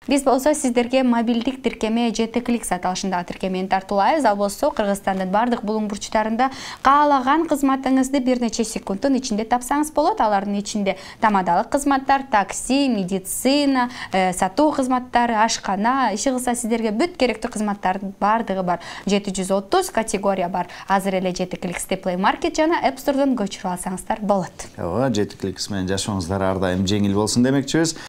Биз болсо сиздерге мобилдик тиркеме JT Clicks аталышындагы тиркемени тартуулайбыз. Ал болсо Кыргызстандын бардык булуң бурчтарында каалаган кызматыңызды бир нече секунддун ичинде тапсаңыз болот. Алардын ичинде тамадалык кызматтар, такси, медицина, сатуу кызматтары, ашкана, иши кылса сиздерге бүт керектүү кызматтардын бардыгы бар. 730 категория бар. Азыр эле JT Clicks Play Market жана App Store'дан көчүрүп алсаңыздар болот. JT Clicks менен жашооңуздар ар дайым жеңил болсун демекчибиз.